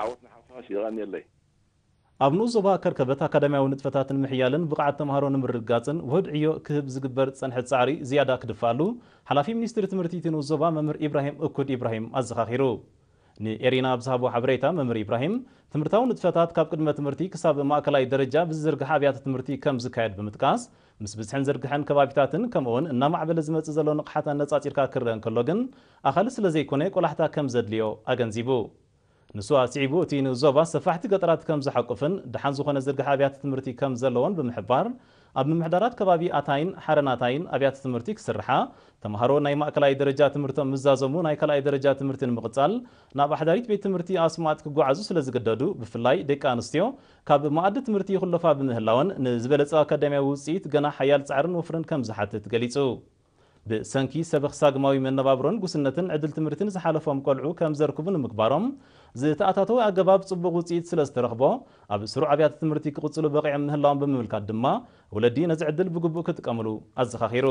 ዓወት ንሓፋሽ። የቐንየለይ። ኣብ ንኡስ ዞባ ከርከበት ኣካዳሚያዊ ንጥፈታትን ምሕያልን ብቕዓት ተምሃሮ ንምርግጋፅን ውሁድ ዕዮ ክህብ ዝግበር ዝፀንሐ ፃዕሪ ዝያዳ ክድፋኣሉ ሓላፊ ሚኒስትሪ ትምህርቲ እቲ ንኡስ ዞባ መምህር ኢብራሂም እኩድ ኢብራሂም ኣዘኻኺሩ። ንኤሪና ኣብ ዝሃቦ ሓበሬታ መምህር ኢብራሂም ትምህርታዊ ንጥፈታት ካብ ቅድመ ትምህርቲ ክሳብ ማእከላይ ደረጃ ብዝዝርግሐ ኣብያተ ትምህርቲ ከም ዝካየድ ብምጥቃስ ምስ ብዝሕን ዝርግሐን ከባቢታትን ከምኡውን እናማዕበለ ዝመፅእ ዘሎ ንቕሓት ኣነፃፂርካ ክረአ እንከሎ ግን ኣኻሊ ስለ ዘይኮነ ቆላሕታ ከም ዘድልዮ ኣገንዚቡ። ንሱ ኣስዒቡ እቲ ንኡስ ዞባ ሰፋሕቲ ገጠራት ከም ዝሓቁፍን ደሓን ዝኾነ ዝርግሐ ኣብያተ ትምህርቲ ከም ዘለዎን ብምሕባር ኣብ ምምሕዳራት ከባቢ ኣታይን ሓረናታይን ኣብያተ ትምህርቲ ክስርሓ ተምሃሮ ናይ ማእከላይ ደረጃ ትምህርቶም ምዛዘሙ ናይ ካልኣይ ደረጃ ትምህርቲ ንምቕፃል ናብ ኣሕዳሪት ቤት ትምህርቲ ኣስማጥ ክጓዓዙ ስለ ዝግደዱ ብፍላይ ደቂ ኣንስትዮ ካብ መኣዲ ትምህርቲ ይኹለፋ ብምህላወን ንዝበለፀ ኣካዳሚያዊ ውፅኢት ገና ሓያል ፃዕርን ወፍርን ከም ዝሓትት ገሊፁ። ብሰንኪ ሰበኽ ሳግማዊ መነባብሮን ጉስነትን ዕድል ትምህርትን ዝሓለፎም ቆልዑ ከም ዘርክቡ ንምግባሮም ዝተኣታተወ ኣገባብ ፅቡቕ ውፅኢት ስለ ዝተረኽቦ ኣብ ስሩዕ ኣብያተ ትምህርቲ ክቕፅሉ በቒዖም ምህላዎም ብምምልካት ድማ ወለዲ ነዚ ዕድል ብግቡእ ክጥቀምሉ ኣዘኻኺሩ።